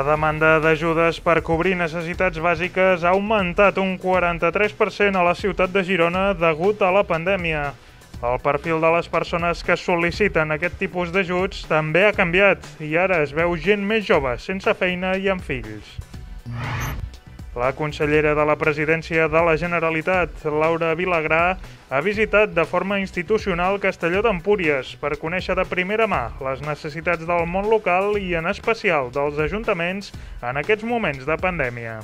La demanda d'ajudes per cobrir necessitats bàsiques ha augmentat un 43% a la ciutat de Girona degut a la pandèmia. El perfil de les persones que sol·liciten aquest tipus d'ajuts també ha canviat i ara es veu gent més jove, sense feina i amb fills. La consellera de la Presidència de la Generalitat, Laura Vilagrà, ha visitat de forma institucional Castelló d'Empúries per conèixer de primera mà les necessitats del món local i en especial dels ajuntaments en aquests moments de pandèmia.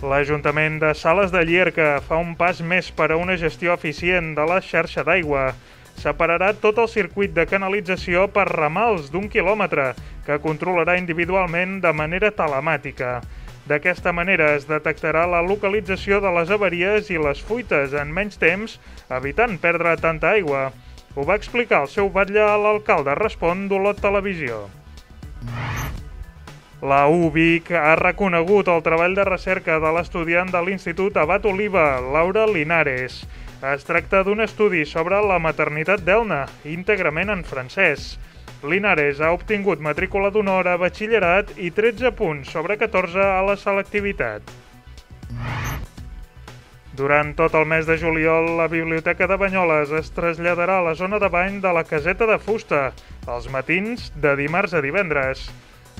L'Ajuntament de Sales de Llierca fa un pas més per a una gestió eficient de la xarxa d'aigua. Separarà tot el circuit de canalització per ramals d'1 quilòmetre, que controlarà individualment de manera telemàtica. D'aquesta manera es detectarà la localització de les avaries i les fuites en menys temps, evitant perdre tanta aigua. Ho va explicar el seu batlle a l'alcalde Respon d'Olot Televisió. La UVic ha reconegut el treball de recerca de l'estudiant de l'Institut Abat Oliva, Laura Linares. Es tracta d'un estudi sobre la maternitat d'Elna, íntegrament en francès. Linares ha obtingut matrícula d'honor a batxillerat i 13 punts sobre 14 a la selectivitat. Durant tot el mes de juliol, la Biblioteca de Banyoles es traslladarà a la zona de bany de la Caseta de Fusta, els matins de dimarts a divendres.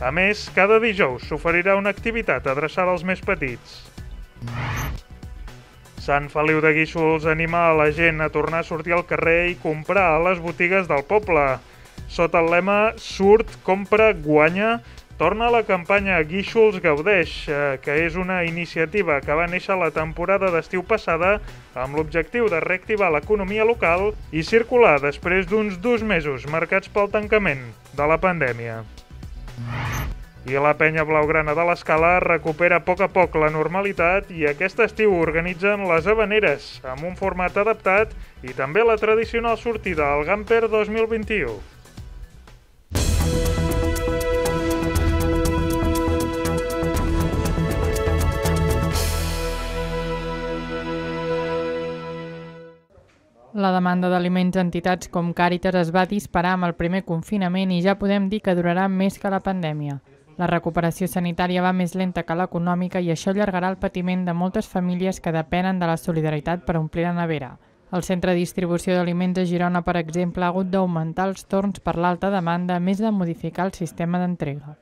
A més, cada dijous s'oferirà una activitat adreçada als més petits. Sant Feliu de Guíxols anima a la gent a tornar a sortir al carrer i comprar a les botigues del poble. Sota el lema Surt, compra, guanya, torna la campanya Guíxols Gaudeix, que és una iniciativa que va néixer la temporada d'estiu passada amb l'objectiu de reactivar l'economia local i circular després d'uns 2 mesos marcats pel tancament de la pandèmia. I la penya blaugrana de l'Escala recupera a poc la normalitat i aquest estiu organitzen les Havaneres, amb un format adaptat i també la tradicional sortida al Gamper 2021. La demanda d'aliments a entitats com Càritas es va disparar amb el primer confinament i ja podem dir que durarà més que la pandèmia. La recuperació sanitària va més lenta que l'econòmica i això allargarà el patiment de moltes famílies que depenen de la solidaritat per omplir la nevera. El Centre de Distribució d'Aliments a Girona, per exemple, ha hagut d'augmentar els torns per l'alta demanda, a més de modificar el sistema d'entrega.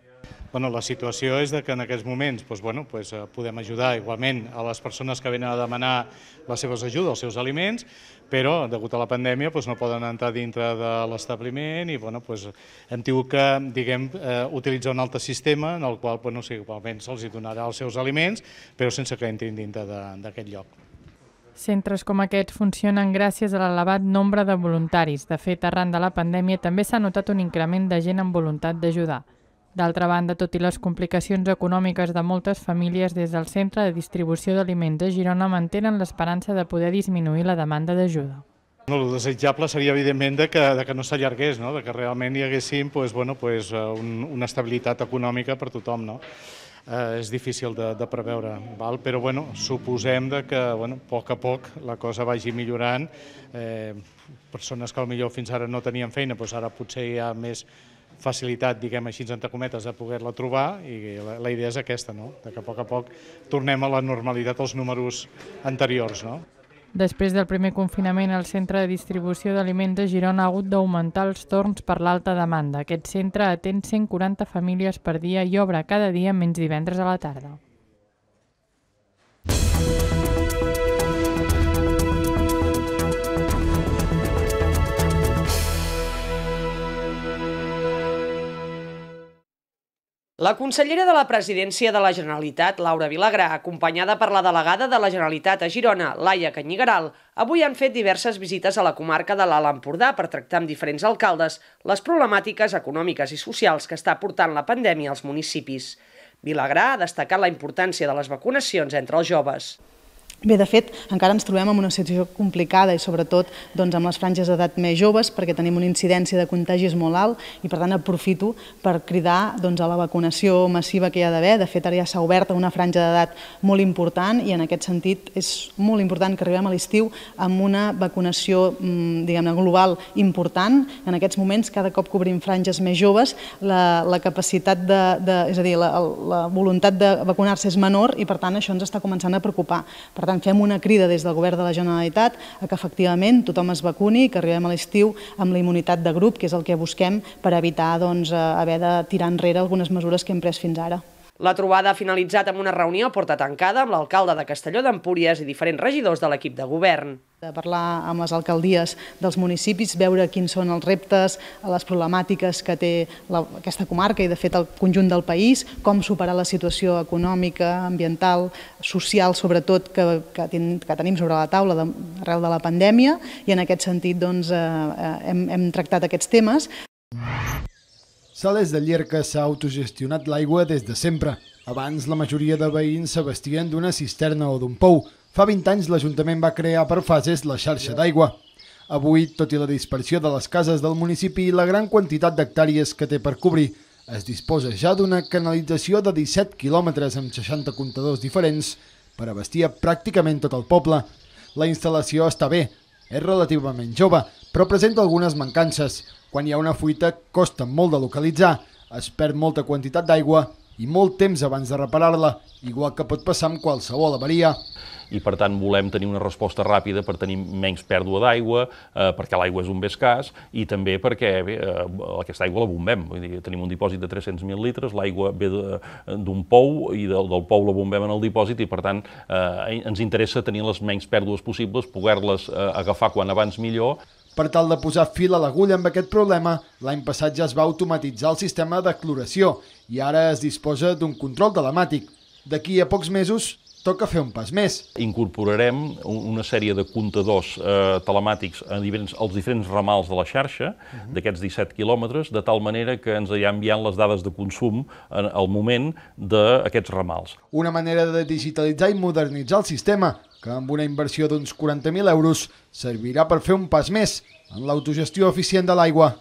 La situació és que en aquests moments podem ajudar igualment a les persones que venen a demanar les seves ajudes, els seus aliments, però degut a la pandèmia no poden entrar dintre de l'establiment i hem tingut que utilitzar un altre sistema en el qual igualment se'ls donarà els seus aliments, però sense que entrin dintre d'aquest lloc. Centres com aquests funcionen gràcies a l'elevat nombre de voluntaris. De fet, arran de la pandèmia també s'ha notat un increment de gent amb voluntat d'ajudar. D'altra banda, tot i les complicacions econòmiques de moltes famílies, des del Centre de Distribució d'Aliments a Girona mantenen l'esperança de poder disminuir la demanda d'ajuda. El desitjable seria, evidentment, que no s'allargués, que realment hi haguéssim una estabilitat econòmica per tothom. És difícil de preveure, però suposem que a poc la cosa vagi millorant. Persones que potser fins ara no tenien feina, ara potser hi ha més facilitat, diguem així, entre cometes, de poder-la trobar i la idea és aquesta, que a poc tornem a la normalitat als números anteriors. Després del primer confinament, el Centre de Distribució d'Aliments de Girona ha hagut d'augmentar els torns per l'alta demanda. Aquest centre atén 140 famílies per dia i obre cada dia menys divendres a la tarda. La consellera de la Presidència de la Generalitat, Laura Vilagrà, acompanyada per la delegada de la Generalitat a Girona, Laia Canyigaral, avui han fet diverses visites a la comarca de l'Alt Empordà per tractar amb diferents alcaldes les problemàtiques econòmiques i socials que està portant la pandèmia als municipis. Vilagrà ha destacat la importància de les vacunacions entre els joves. Bé, de fet, encara ens trobem en una situació complicada i sobretot amb les franges d'edat més joves perquè tenim una incidència de contagis molt alt i per tant aprofito per cridar a la vacunació massiva que hi ha d'haver. De fet, ara ja s'ha obert una franja d'edat molt important i en aquest sentit és molt important que arribem a l'estiu amb una vacunació global important. En aquests moments, cada cop que obrim franges més joves, la capacitat és a dir, la voluntat de vacunar-se és menor i per tant això ens està començant a preocupar. Per tant, fem una crida des del Govern de la Generalitat a que efectivament tothom es vacuni, que arribem a l'estiu amb la immunitat de grup, que és el que busquem per evitar haver de tirar enrere algunes mesures que hem pres fins ara. La trobada ha finalitzat amb una reunió a porta tancada amb l'alcalde de Castelló d'Empúries i diferents regidors de l'equip de govern. De parlar amb les alcaldies dels municipis, veure quins són els reptes, les problemàtiques que té aquesta comarca i de fet el conjunt del país, com superar la situació econòmica, ambiental, social sobretot que tenim sobre la taula arrel de la pandèmia i en aquest sentit hem tractat aquests temes. Sales de Llierca s'ha autogestionat l'aigua des de sempre. Abans la majoria de veïns s'abastien d'una cisterna o d'un pou. Fa 20 anys l'Ajuntament va crear per fases la xarxa d'aigua. Avui, tot i la dispersió de les cases del municipi i la gran quantitat d'hectàrees que té per cobrir, es disposa ja d'una canalització de 17 quilòmetres amb 60 comptadors diferents per abastir pràcticament tot el poble. La instal·lació està bé, és relativament jove, però presenta algunes mancances. Quan hi ha una fuita costa molt de localitzar, es perd molta quantitat d'aigua i molt temps abans de reparar-la, igual que pot passar amb qualsevol avaria. I per tant volem tenir una resposta ràpida per tenir menys pèrdua d'aigua, perquè l'aigua és un bé escàs i també perquè aquesta aigua la bombem. Vull dir, tenim un dipòsit de 300.000 litres, l'aigua ve d'un pou i del pou la bombem en el dipòsit i per tant ens interessa tenir les menys pèrdues possibles, poder-les agafar quan abans millor. Per tal de posar fil a l'agulla amb aquest problema, l'any passat ja es va automatitzar el sistema de cloració i ara es disposa d'un control telemàtic. D'aquí a pocs mesos toca fer un pas més. Incorporarem una sèrie de comptadors telemàtics als diferents ramals de la xarxa, d'aquests 17 quilòmetres, de tal manera que ens hi enviant les dades de consum al moment d'aquests ramals. Una manera de digitalitzar i modernitzar el sistema, que amb una inversió d'uns 40.000 euros servirà per fer un pas més en l'autogestió eficient de l'aigua.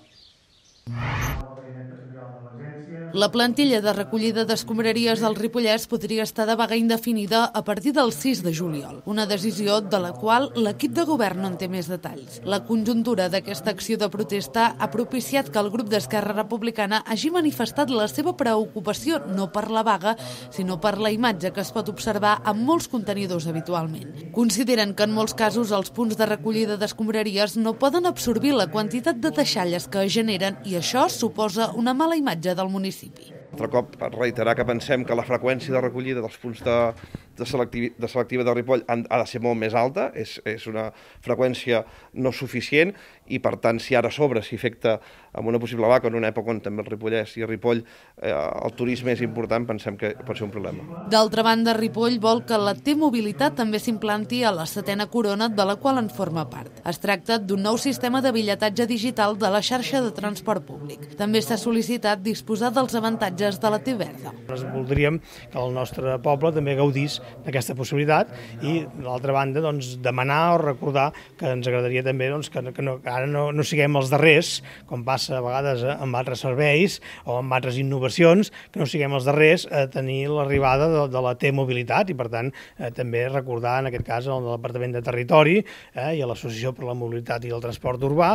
La plantilla de recollida d'escombraries del Ripollès podria estar de vaga indefinida a partir del 6 de juliol, una decisió de la qual l'equip de govern no en té més detalls. La conjuntura d'aquesta acció de protesta ha propiciat que el grup d'Esquerra Republicana hagi manifestat la seva preocupació no per la vaga, sinó per la imatge que es pot observar en molts contenidors habitualment. Consideren que en molts casos els punts de recollida d'escombraries no poden absorbir la quantitat de deixalles que generen i això suposa una mala imatge del municipi. Altre cop, reiterar que pensem que la freqüència de recollida dels punts de selectiva de Ripoll ha de ser molt més alta, és una freqüència no suficient i per tant si ara a sobre s'hi afecta amb una possible vaca en una època on també el Ripollès i el Ripoll el turisme és important, pensem que pot ser un problema. D'altra banda, Ripoll vol que la T-mobilitat també s'implanti a la 7a corona de la qual en forma part. Es tracta d'un nou sistema de bitlletatge digital de la xarxa de transport públic. També s'ha sol·licitat disposar dels avantatges de la T-verda. Voldríem que el nostre poble també gaudís d'aquesta possibilitat i, d'altra banda, demanar o recordar que ens agradaria també que ara no siguem els darrers, com passa a vegades amb altres serveis o amb altres innovacions, que no siguem els darrers a tenir l'arribada de la T-mobilitat i, per tant, també recordar, en aquest cas, al Departament de Territori i a l'Associació per la Mobilitat i el Transport Urbà,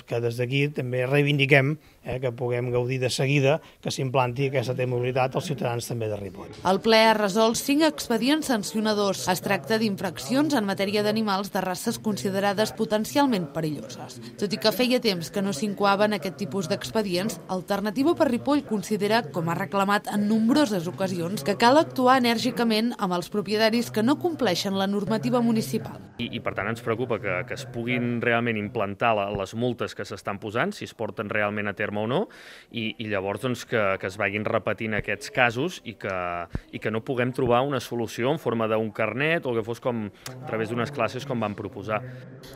que des d'aquí també reivindiquem que puguem gaudir de seguida que s'implanti aquesta T-mobilitat als ciutadans també de Ripoll. El ple ha resolt 5 expedients sancionadors. Es tracta d'infraccions en matèria d'animals de races considerades potencialment perilloses. Tot i que feia temps que no s'incoaven aquest tipus d'expedients, Alternativa per Ripoll considera, com ha reclamat en nombroses ocasions, que cal actuar enèrgicament amb els propietaris que no compleixen la normativa municipal. I per tant ens preocupa que es puguin realment implantar les multes que s'estan posant, si es porten realment a terme o no, i llavors que es vagin repetint aquests casos i que no puguem trobar una solució en forma d'un carnet o que fos com a través d'unes classes com van proposar.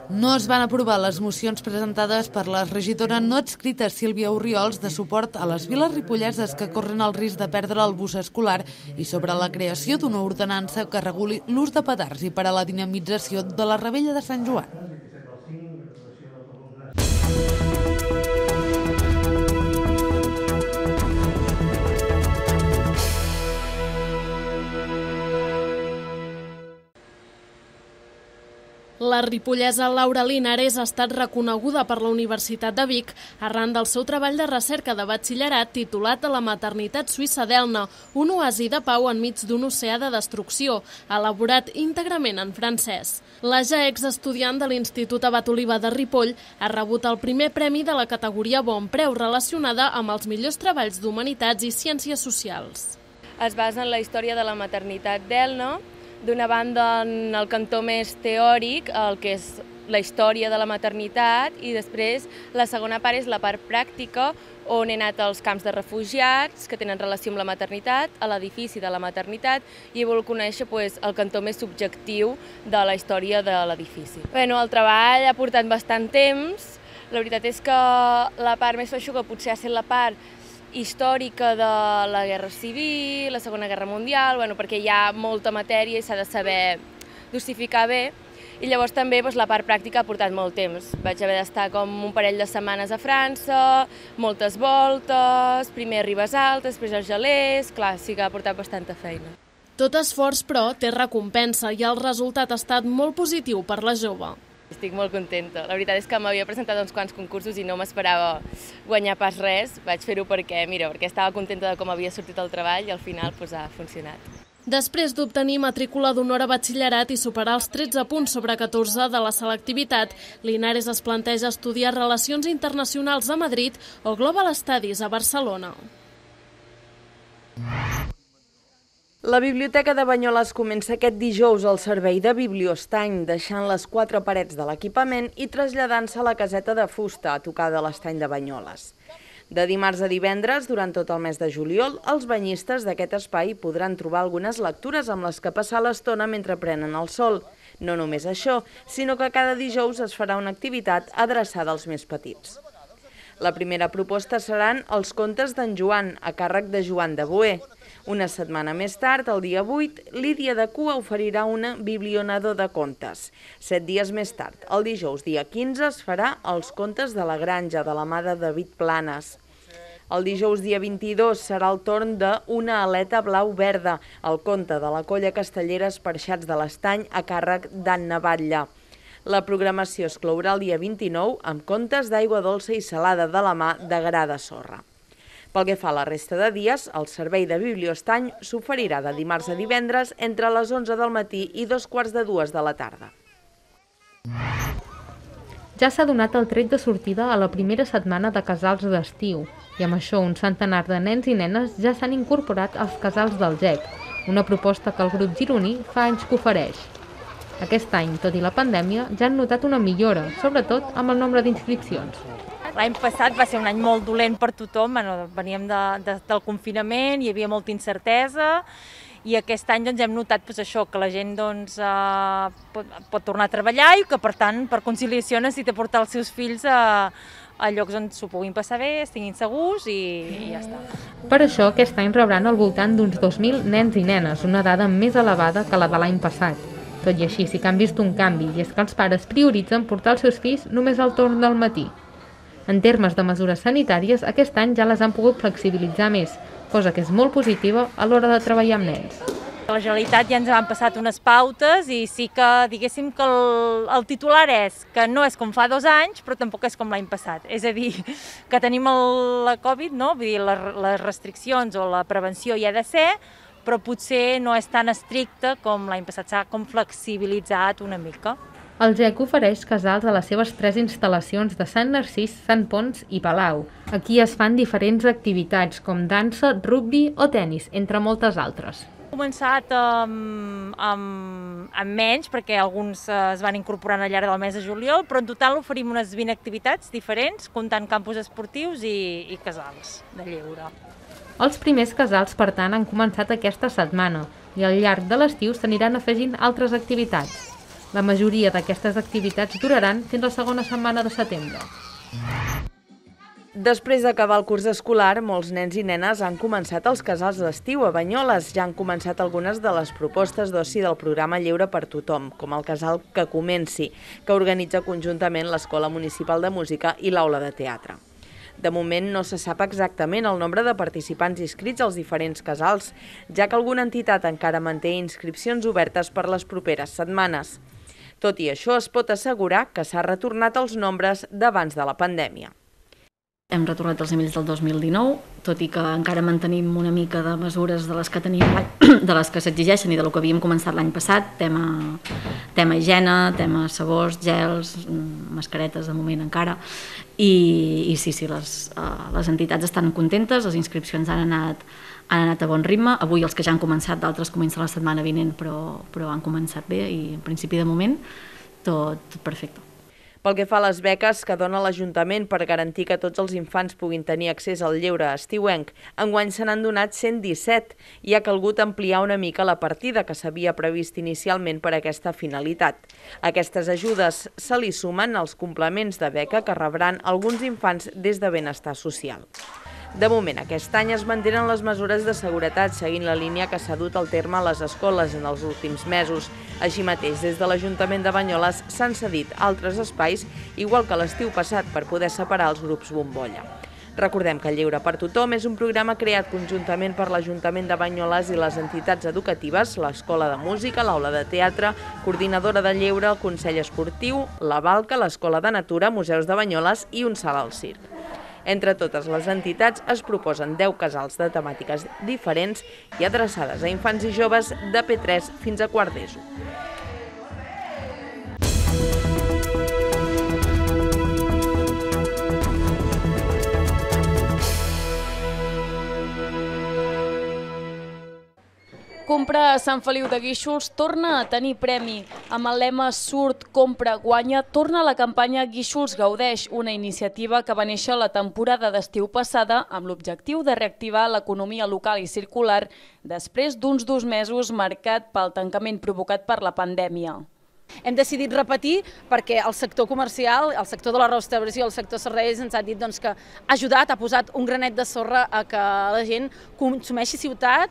No es van aprovar les mocions presentades per la regidora no adscrita Sílvia Orriols de suport a les viles ripolleses que corren el risc de perdre el bus escolar i sobre la creació d'una ordenança que reguli l'ús de petards i per a la dinamització de la Rebella de Sant Joan. La ripollesa Laura Linares ha estat reconeguda per la Universitat de Vic arran del seu treball de recerca de batxillerat titulat a la maternitat suïssa d'Elna, un oasi de pau enmig d'un oceà de destrucció, elaborat íntegrament en francès. La ja exestudiant de l'Institut Abat Oliva de Ripoll ha rebut el primer premi de la categoria Bon Preu relacionada amb els millors treballs d'humanitats i ciències socials. Es basa en la història de la maternitat d'Elna, d'una banda en el cantó més teòric, el que és la història de la maternitat, i després la segona part és la part pràctica, on he anat als camps de refugiats que tenen relació amb la maternitat, a l'edifici de la maternitat, i he volgut conèixer el cantó més subjectiu de la història de l'edifici. El treball ha portat bastant temps. La veritat és que la part més feixuga potser ha estat la part històrica de la Guerra Civil, la Segona Guerra Mundial, perquè hi ha molta matèria i s'ha de saber dosificar bé. I llavors també la part pràctica ha portat molt temps. Vaig haver d'estar com un parell de setmanes a França, moltes voltes, primer a Ribes Altes, després als gelers, clar, sí que ha portat bastanta feina. Tot esforç, però, té recompensa i el resultat ha estat molt positiu per la jove. Estic molt contenta. La veritat és que m'havia presentat uns quants concursos i no m'esperava guanyar pas res. Vaig fer-ho perquè estava contenta de com havia sortit el treball i al final ha funcionat. Després d'obtenir matrícula d'honor a batxillerat i superar els 13 punts sobre 14 de la selectivitat, Linares es planteja estudiar Relacions Internacionals a Madrid o Global Studies a Barcelona. La Biblioteca de Banyoles comença aquest dijous el servei de Bibliostany, deixant les 4 parets de l'equipament i traslladant-se a la caseta de fusta a tocar de l'estany de Banyoles. De dimarts a divendres, durant tot el mes de juliol, els banyistes d'aquest espai podran trobar algunes lectures amb les que passar l'estona mentre prenen el sol. No només això, sinó que cada dijous es farà una activitat adreçada als més petits. La primera proposta seran els contes d'en Joan, a càrrec de Joan de Boer. Una setmana més tard, el dia 8, Lídia de Cua oferirà una biblionador de contes. 7 dies més tard, el dijous dia 15, es farà els contes de la granja, de la mà de David Planes. El dijous dia 22 serà el torn de Una aleta blau-verda, el conte de la colla castellera Esparxats de l'Estany, a càrrec d'Anna Batlle. La programació es clourà el dia 29 amb contes d'aigua dolça i salada de la mà de Gra de Sorra. Pel que fa a la resta de dies, el servei de Bibliostany s'oferirà de dimarts a divendres entre les 11 del matí i 2:45 de la tarda. Ja s'ha donat el tret de sortida a la primera setmana de casals d'estiu i amb això un centenar de nens i nenes ja s'han incorporat als casals del GEC, una proposta que el grup gironí fa anys que ofereix. Aquest any, tot i la pandèmia, ja han notat una millora, sobretot amb el nombre d'inscripcions. L'any passat va ser un any molt dolent per tothom, veníem del confinament, hi havia molta incertesa i aquest any hem notat que la gent pot tornar a treballar i que per tant per conciliació necessita portar els seus fills a llocs on s'ho puguin passar bé, estiguin segurs i ja està. Per això aquest any rebran al voltant d'uns 2.000 nens i nenes, una dada més elevada que la de l'any passat. Tot i així sí que han vist un canvi i és que els pares prioritzen portar els seus fills només al torn del matí. En termes de mesures sanitàries, aquest any ja les han pogut flexibilitzar més, cosa que és molt positiva a l'hora de treballar amb nens. A la Generalitat ja ens han passat unes pautes i sí que diguéssim que el titular és que no és com fa 2 anys, però tampoc és com l'any passat. És a dir, que tenim la Covid, no? Vull dir, les restriccions o la prevenció hi ha de ser, però potser no és tan estricte com l'any passat, s'ha com flexibilitzat una mica. El GEC ofereix casals a les seves 3 instal·lacions de Sant Narcís, Sant Ponç i Palau. Aquí es fan diferents activitats com dansa, rugbi o tennis, entre moltes altres. començat amb menys, perquè alguns es van incorporant al llarg del mes de juliol, però en total oferim unes 20 activitats diferents, comptant campus esportius i casals de lleure. Els primers casals, per tant, han començat aquesta setmana i al llarg de l'estiu s'aniran afegint altres activitats. La majoria d'aquestes activitats duraran fins la segona setmana de setembre. Després d'acabar el curs escolar, molts nens i nenes han començat els casals d'estiu. A Banyoles ja han començat algunes de les propostes d'oci del programa Lleure per Tothom, com el casal Que Comenci, que organitza conjuntament l'Escola Municipal de Música i l'Aula de Teatre. De moment no se sap exactament el nombre de participants inscrits als diferents casals, ja que alguna entitat encara manté inscripcions obertes per les properes setmanes. Tot i això, es pot assegurar que s'ha retornat als nombres d'abans de la pandèmia. Hem retornat els nivells del 2019, tot i que encara mantenim una mica de mesures de les que tenim, de les que s'exigeixen i de lo que havíem començat l'any passat, tema higiene, tema sabors, gels, mascaretes de moment encara, i sí, les entitats estan contentes, les inscripcions han anat a bon ritme. Avui els que ja han començat, d'altres comencen la setmana vinent, però han començat bé i en principi de moment tot perfecte. Pel que fa a les beques que dona l'Ajuntament per garantir que tots els infants puguin tenir accés al lleure estiuenc, enguany se n'han donat 117 i ha calgut ampliar una mica la partida que s'havia previst inicialment per a aquesta finalitat. Aquestes ajudes se li sumen als complements de beca que rebran alguns infants des de Benestar Social. De moment, aquest any es mantenen les mesures de seguretat seguint la línia que s'ha dut al terme a les escoles en els últims mesos. Així mateix, des de l'Ajuntament de Banyoles s'han cedit altres espais, igual que l'estiu passat, per poder separar els grups bombolla. Recordem que Lleure per Tothom és un programa creat conjuntament per l'Ajuntament de Banyoles i les entitats educatives, l'Escola de Música, l'Aula de Teatre, Coordinadora de Lleure, el Consell Esportiu, la Balca, l'Escola de Natura, Museus de Banyoles i un salt al circ. Entre totes les entitats es proposen 10 casals de temàtiques diferents i adreçades a infants i joves de P3 fins a quart d'ESO. Compra a Sant Feliu de Guíxols torna a tenir premi. Amb el lema Surt, compra, guanya, torna la campanya Guíxols Gaudeix, una iniciativa que va néixer la temporada d'estiu passada amb l'objectiu de reactivar l'economia local i circular després d'uns 2 mesos marcat pel tancament provocat per la pandèmia. Hem decidit repetir perquè el sector comercial, el sector de la restauració, el sector serveis ens ha dit que ha ajudat, ha posat un granet de sorra a que la gent consumeixi ciutat,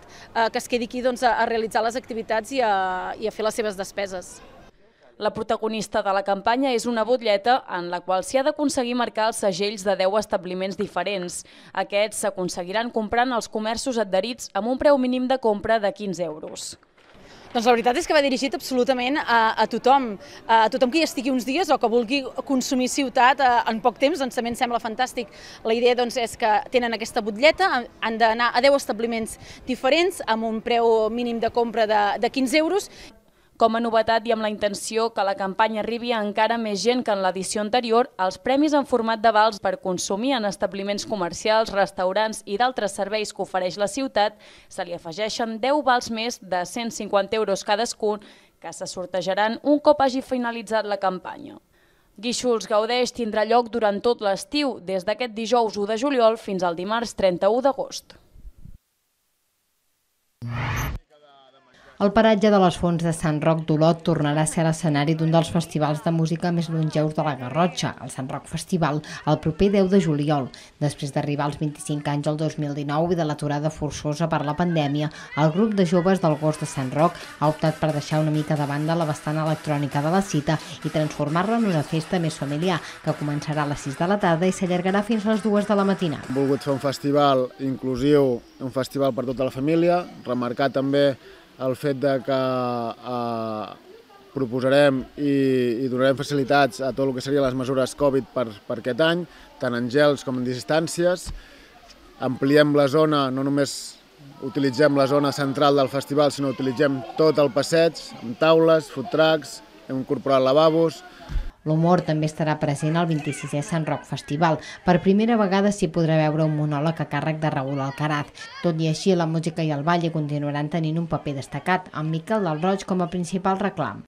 que es quedi aquí a realitzar les activitats i a fer les seves despeses. La protagonista de la campanya és una butlleta en la qual s'hi ha d'aconseguir marcar els segells de 10 establiments diferents. Aquests s'aconseguiran comprant als comerços adherits amb un preu mínim de compra de 15 euros. Doncs la veritat és que va dirigit absolutament a tothom que hi estigui uns dies o que vulgui consumir ciutat en poc temps, doncs també ens sembla fantàstic. La idea és que tenen aquesta butlleta, han d'anar a 10 establiments diferents amb un preu mínim de compra de 15 euros. Com a novetat i amb la intenció que la campanya arribi a encara més gent que en l'edició anterior, els premis en format de vals per consumir en establiments comercials, restaurants i d'altres serveis que ofereix la ciutat se li afegeixen 10 vals més de 150 euros cadascun que se sortejaran un cop hagi finalitzat la campanya. Guíxols Gaudeix tindrà lloc durant tot l'estiu, des d'aquest dijous 1 de juliol fins al dimarts 31 d'agost. El paratge de les Fonts de Sant Roc d'Olot tornarà a ser l'escenari d'un dels festivals de música més longeus de la Garrotxa, el Sant Roc Festival, el proper 10 de juliol. Després d'arribar als 25 anys el 2019 i de l'aturada forçosa per la pandèmia, el grup de joves del Gos de Sant Roc ha optat per deixar una mica de banda la vessant electrònica de la cita i transformar-la en una festa més familiar, que començarà a les 6 de la tarda i s'allargarà fins a les 2 de la matinada. Hem volgut fer un festival inclusiu, un festival per tota la família, remarcar també el fet que proposarem i donarem facilitats a tot el que serien les mesures Covid per aquest any, tant en gels com en distàncies. Ampliem la zona, no només utilitzem la zona central del festival, sinó utilitzem tot el passeig, amb taules, food trucks, hem incorporat lavabos. L'humor també estarà present al 26è Sant Roc Festival. Per primera vegada s'hi podrà veure un monòleg a càrrec de Raül Alcaraz. Tot i així, la música i el ball continuaran tenint un paper destacat, amb Miquel del Roig com a principal reclam.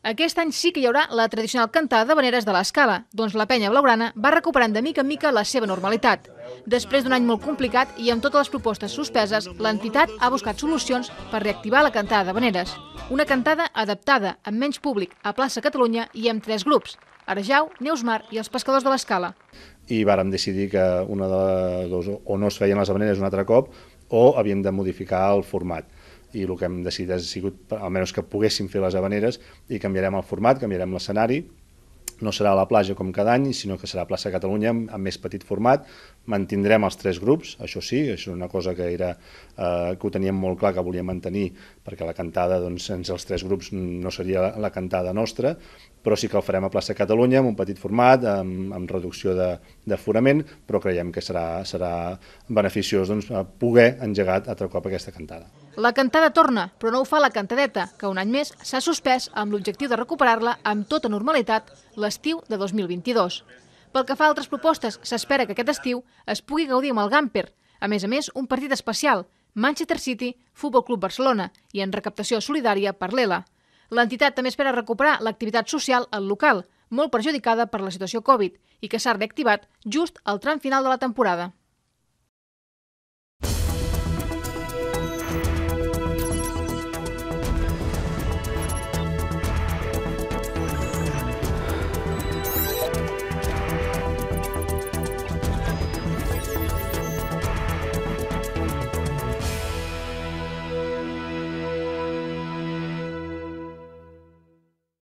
Aquest any sí que hi haurà la tradicional cantada d'havaneres de l'Escala, doncs la penya blaugrana va recuperant de mica en mica la seva normalitat. Després d'un any molt complicat i amb totes les propostes suspeses, l'entitat ha buscat solucions per reactivar la cantada d'havaneres. Una cantada adaptada, amb menys públic, a plaça Catalunya i amb 3 grups: Arjau, Neusmar i els pescadors de l'Escala. I vàrem decidir que una de dos o no es feien les havaneres un altre cop o havíem de modificar el format. I el que hem decidit ha sigut almenys que poguéssim fer les havaneres i canviarem el format, canviarem l'escenari. No serà a la platja com cada any, sinó que serà a plaça Catalunya amb més petit format. Mantindrem els 3 grups, això sí, això és una cosa que ho teníem molt clar que volíem mantenir, perquè la cantada, sense els 3 grups no seria la cantada nostra, però sí que el farem a plaça Catalunya amb un petit format, amb reducció d'aforament, però creiem que serà beneficiós poder engegar altre cop aquesta cantada. La cantada torna, però no ho fa la cantadeta, que un any més s'ha suspès amb l'objectiu de recuperar-la amb tota normalitat l'estiu de 2022. Pel que fa a altres propostes, s'espera que aquest estiu es pugui gaudir amb el Gamper. A més, un partit especial, Manchester City, Futbol Club Barcelona, i en recaptació solidària per l'ELA. L'entitat també espera recuperar l'activitat social al local, molt perjudicada per la situació Covid, i que s'ha reactivat just al tram final de la temporada.